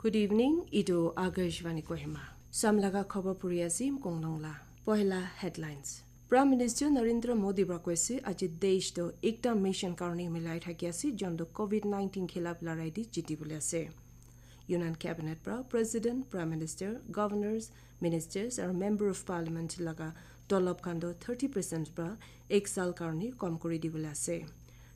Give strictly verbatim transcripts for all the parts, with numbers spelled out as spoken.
Good evening, etu Akashvani Kohima. Samlaga khobor puri ase Kongnong la. Pohela headlines. Prime Minister Narendra Modi pra koise aji desh to ekta mission karone milai thaki ase, jon to covid nineteen khilap larai di jiti bole ase. Union Cabinet pra President, Prime Minister, Governors, Ministers aru Member of Parliament laga tolop khan to thirty percent pra ek sal karone kom kuri di bole ase.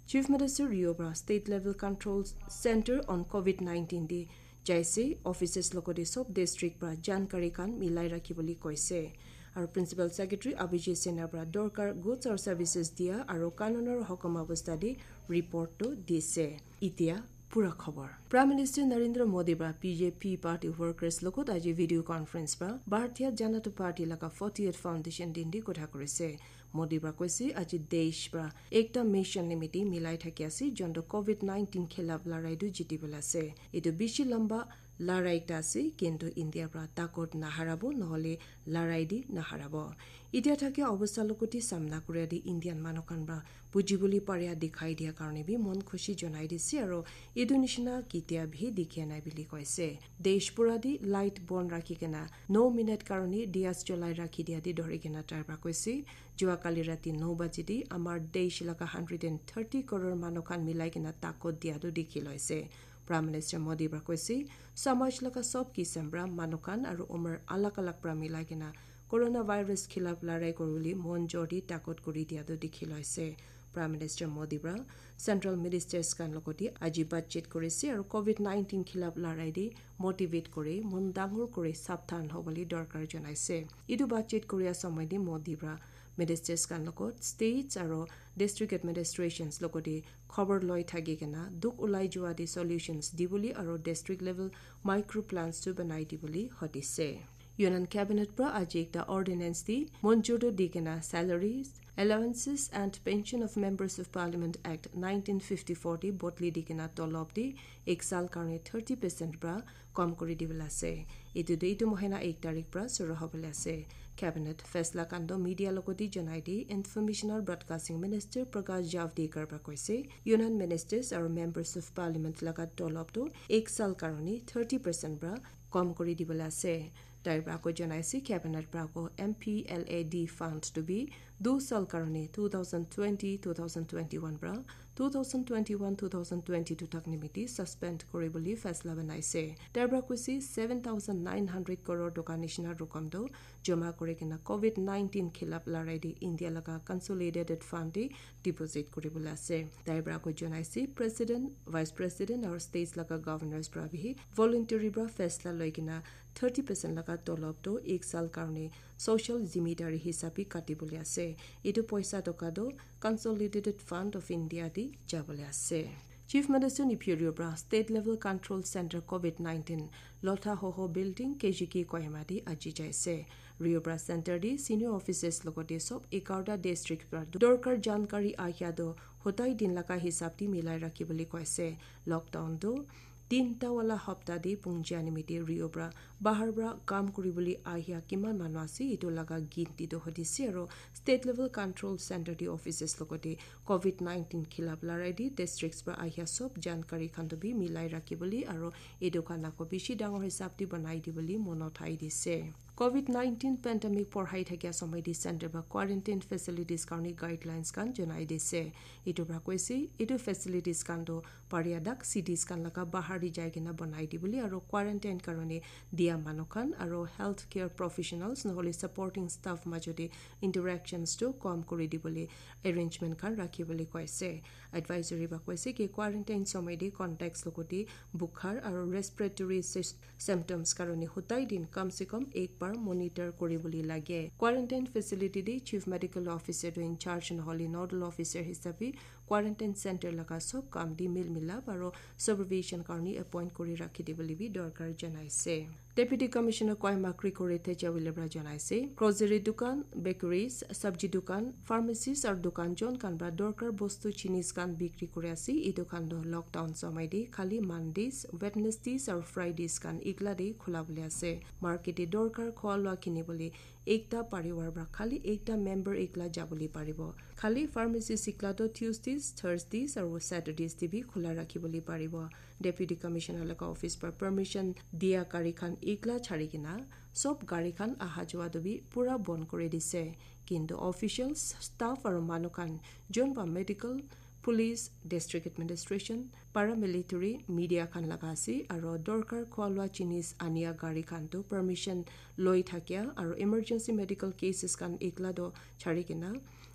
Chief Minister Rio pra State Level Control Center on covid nineteen di jaise, offices logote sob district pra jankari khan milai rakhi bole koise. Aru Principal Secretary Abhijit Sinha pra dorkar goods aru services dia aru kanunor hokom abostha di report to dise. Itia pura khobor. Prime Minister Narendra Modi pra B J P party workers logot aji video conference pra Bharatiya Janata Party laga fortieth foundation din di kotha kurise. Modi pra koise aji desh pra ekta mission nimiti milai thaki ase, jon to covid nineteen khilap larai tu jiti bole ase. Etu bishi lamba larai ekta ase, kintu India pra takot naharabo, nohole larai di naharabo. Itia thakia obostha logote samna kuria di Indian manu khan pra buji bole paria dikhai dia karone bi mon khushi jonai dise aru etu nishina kitia bhi dikhia nai bili koise. Desh pura di light bon rakhi kena no minute karone dias cholai rakhi dia di dhori kena tai pra koise, jua kali rati no baji di amar desh laga hundred and thirty crore manu khan milai kena takot dia tu dikhi loise. Prime Minister Modi pra koise, samaj laga sob kisam pra manu khan aru umar alag alag pra milai kena coronavirus khilap larai kuribole mon jor di takot kuri dia tu dikhi loise. Prime Minister Modi pra Central Ministers khan logote aji batchit kurise aru covid nineteen khilap larai di motivate kuri mon dangor kuri sabdhan hobole dorkar janaise. Etu batchit kuria samai di Modi pra Ministers khan logot states aru district administrations logote khobor loi thaki kena dukh ulai jua di solutions dibole aru district level micro plans tu banai dibole hotise. Union Cabinet pra aji ekta ordinance di monjur tu di kena salaries, allowances and pension of members of Parliament Act nineteen fifty-four di bodli di kena tolop di ek sal karone thirty percent pra kom kuri dibole ase. Etu tu etu mohina ek tarik pra suru hobole ase. Cabinet faisla khan to media logote janai di Information aru Broadcasting Minister Prakash Javadekar pra koise, Union Ministers aru Members of Parliament laga tolop tu ek sal karone thirty percent pra kom kuri dibole ase. Tai pra ako janaise Cabinet pra ako M P L A D fund tu bi du sal karone two thousand twenty, two thousand twenty-one pra two thousand twenty-one, two thousand twenty-two tak nimiti suspend kuribole faisla banaise. Tai pra koise seven thousand nine hundred crore toka nishina rokom tu joma kuri kena covid nineteen khilap larai di India laga consolidated fund di deposit kuribole ase. Tai pra ako janaise President, Vice President aru states laga governors pra bhi voluntary pra faisla loi kena thirty percent laga tolop tu ek sal karone social zimedari hisab bi kati bole ase. Etu poisa toka tu Consolidated Fund of India di jabole ase. Chief Minister Neiphiu Rio pra State Level Control Center covid nineteen Lotha Hoho Building K G K Kohima di aji jaise. Rio pra center di senior officers logote sob egarta district pra dorkar jankari ahia tu hotai din laga hisab di milai rakhi bole koise. Lockdown tu tinta wala hapta di pungjia nimiti Rio pra bahar pra kam kuribole ahia kiman manu ase, etu laga ginti tu hotise aru State Level Control Center di officers logote covid nineteen khilap larai di districts pra ahia sob jankari khan tu bi milai rakhi bole aru etu khan ako bishi dangor hisab di banai di bole mon uthai dise. covid nineteen pandemic porhai thakia somoi di center pra quarantine facilities karone guidelines khan janai dise. Etu pra koise, etu facilities khan tu paria dak cities khan laga bahar di jai kena banai di bole aru quarantine karone dia manu khan aru healthcare professionals nohole supporting staff majote interactions tu kom kuri di bole arrangement khan rakhi bole koise. Advisory pra koise ki quarantine somoi di contacts logote bukhar aru respiratory sys- symptoms karone hotai din kam se kam ek bar monitor kuribole lage. Quarantine facility te Chief Medical Officer tu in charge nohole nodal officer hisabe quarantine center laga sob kam di mil milap aru supervision karone appoint kuri rakhi di bole bi dorkar janaise. Deputy Commissioner Kohima Krikori Teja Wilebra janaise, grocery dukan, bakeries, sabji dukan, pharmacies aru dukan jon khan pra dorkar bostu jinis khan bikri kuri ase. Etu khan tu lockdown somoi te khali Mondays, Wednesdays aru Fridays khan ekla te khula bole ase. Market te dorkar khua lua kini bole ekta parivar pra khali ekta member ekla jabole paribo. Khali pharmacy ekla tu Tuesdays Thursdays aru Saturdays te bi khula rakhi bole paribo. Deputy Commissioner laga office para permission dia gari khan ekla chari kena sob gari khan aha jua tu bi pura bon kori dise. Kintu officials, staff aru manu khan jon ba medical, police, district administration, paramilitary, media khan laga ase aru dorkar khua lua jinis ania gari khan tu permission loi thakia aru emergency medical cases khan ekla tu chari kena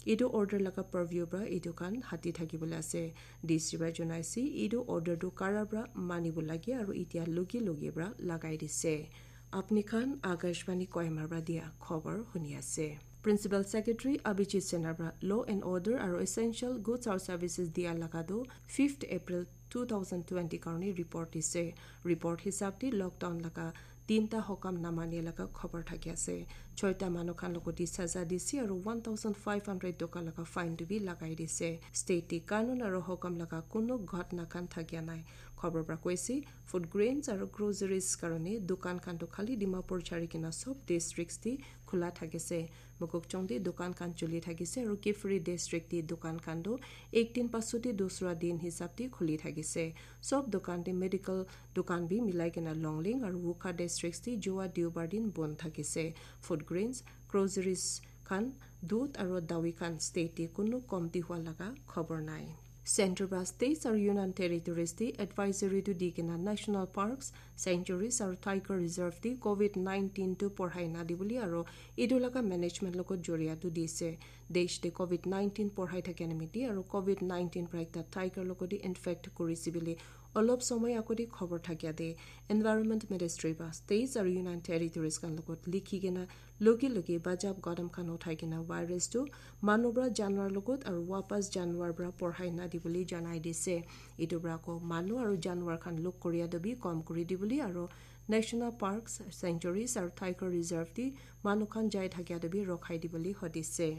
etu order laga purview para etu khan hati thaki bole ase. D C para jonai ase etu order tu kara para mani bo lage aru etia logi logi para lagai dise. Apni khan Akashvani Kohima para dia khobor huni ase. Principal Secretary Abhijit Sinha para law and order aru essential goods or services dia laga tu fifth April two thousand twenty karone report dise. Report hisab te lockdown laga tinta hokam namani laga khobor thaki ase. Choita manu khan logot te saza dise aru one thousand five hundred toka laga fine tu bi lagai dise. State te kanun aru hokam laga kunu ghotna khan thakia nai. Khobor para koise, food grains aru groceries karone dukan khan tu khali Dimapur chari kena sob districts te khula thakise. Mokokchung te dukan khan chuli thakise aru Kiphire district te dukan khan tu ek din pasot te dusra din hisab te khuli thakise. Sob dukan te medical dukan bi milai kena Longleng aru Wokha districts te jua Deobar din bon thakise. Food grains, groceries khan, dudh aru dawi khan state te kunu komti hua laga khobor nai. Centre para states aru Union Territories te advisory tu di kena national parks, sanctuaries aru tiger reserve te covid nineteen tu porhai na di bole aru etu laga management logot joria tu dise. Desh te covid nineteen porhai thakia nimite aru covid nineteen para ekta tiger logot te infect korise bole olop somoi agote khobor thakia te Environment Ministry para states aru Union Territories khan logot likhi kena logi logi bachab kadam khan uthai kena virus tu manu para janwar logot aru wapas janwar para porhai na di bole janai dise. Etu para ko manu aru janwar khan luk koria tu bi kom kori di bole aru national parks, sanctuaries aru tiger reserve te manu khan jai thakia tu bi rokhai di bole hodise.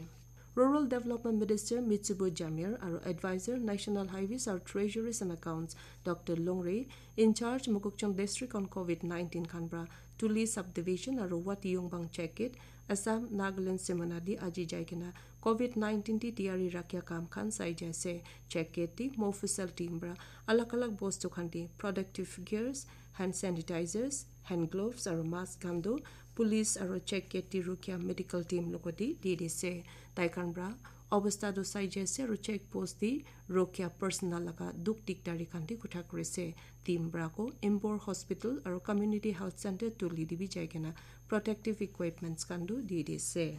Rural Development Minister Mitsubo Jamir aru Advisor National Highways aru Treasuries and Accounts Doctor Longre, in charge Mokokchung District on covid nineteen khan para Tuli Subdivision aru Wati Yongbang Check Gate, Assam, Nagaland Simona di aji jai kena covid nineteen di tiyari rakhia kam khan sai jai ase. Check gate di Mofusel team para alag alag bostu khan di protective gears, hand sanitizers, hand gloves aru mask khan tu police aru check gate di rukia medical team logot di di dise. Tai khan para obostha tu sai jai ase aru check post di rukia personnel laga dukh dikdari khan di kotha kuri ase. Team para ko Embor Hospital aru Community Health Center Tuli di bi jai kena protective equipments khan tu di dise.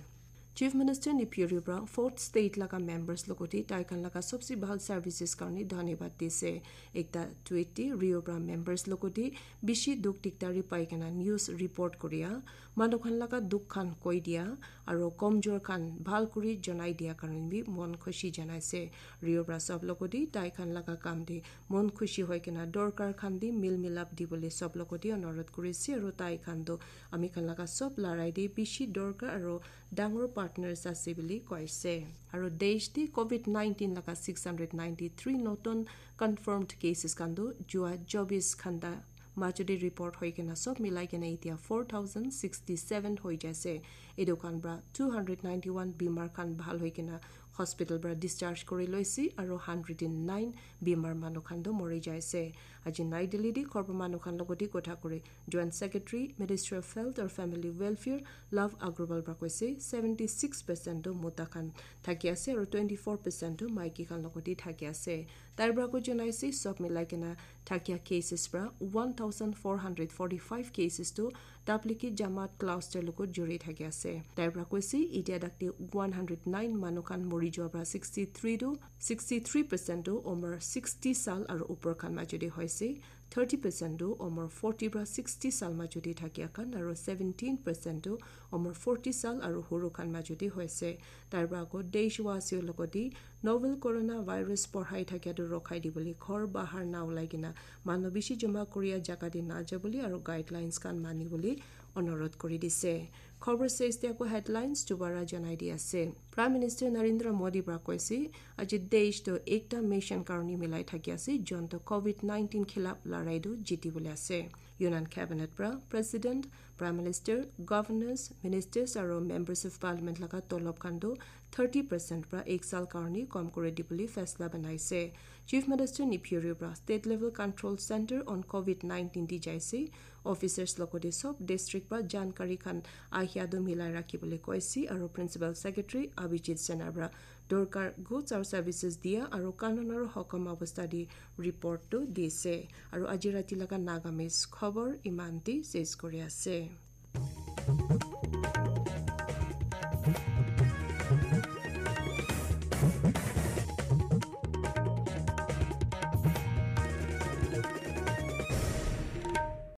Chief Minister Neiphiu Rio para fourth state laga members logot te tai khan laga sobse bhal services karone dhanyabad dise. Ekta tweet te Rio para members logot te bishi dukh dikdari pai kena news report koria, manu khan laga dukh khan koi dia aru komjor khan bhal kuri janai dia karone bi mon khushi janai ase. Rio para sob logot te tai khan laga kam te mon khushi hoi kena dorkar khan te mil milap di bole sob logot te onurodh kuri ase aru tai khan tu ami khan laga sob larai te bishi dorkar aru dangor partners ase bole koise. Aru desh te covid nineteen laga six hundred ninety three notun confirmed cases khan tu jua chobis ghanta majo te report hoi kena sob milai kena etia four thousand sixty seven hoi jai ase. Etu khan para two hundred ninety one bimar khan bhal hoi kena hospital para discharge kuri loise aru hundred and nine bimar manu khan tu mori jai ase. Aji Nai Delhi te khobor manu khan logot te kotha kuri Joint Secretary, Ministry of Health or Family Welfare, Love Agrawal para koise, seventy six percent tu mota khan thaki ase aru twenty four percent tu maiki khan logot te thaki ase. Tai para ko janai ase, sob milai kena thakia cases para one thousand four hundred forty five cases tu Tablighi Jamaat cluster logot juri thaki ase. Tai para koise, etia tak te one hundred nine manu khan mori jua para sixty three tu, sixty three percent tu umar sixty sal aru upor khan majo te hoise. Thirty percent tu umar forty para sixty sal majo te thakia khan aru seventeen percent tu umar forty sal aru huru khan majo te hoise. Tai para ko deshwasi logot te novel coronavirus porhai thakia tu rokhai di bole, ghor bahar na ulai kena manu bishi jama koria jaga te na ja bole aru guidelines khan mani bole onurodh kuri dise. Khobor ses te ako headlines dubara janai di ase. Prime Minister Narendra Modi para koise, aji desh tu ekta mission karone milai thaki ase, jon tu covid nineteen khilap larai tu jiti bole ase. Union Cabinet pra President, Prime Minister, Governors, Ministers aro Members of Parliament laga tolop khan toh thirty percent pra ek saal karne kom kuri dibole faisla banai ase. Chief Minister Neiphiu Rio pra State Level Control Centre on COVID nineteen te jai ase. Officers logote sob district pra jankari khan ahia toh milai rakhibole koise aro Principal Secretary Abhijit Sinha pra dorkar goods aro services dia aro kanun aro hukum obostha te report toh dise. Aro aji rati laga Nagamese khobor iman te ses kuri ase.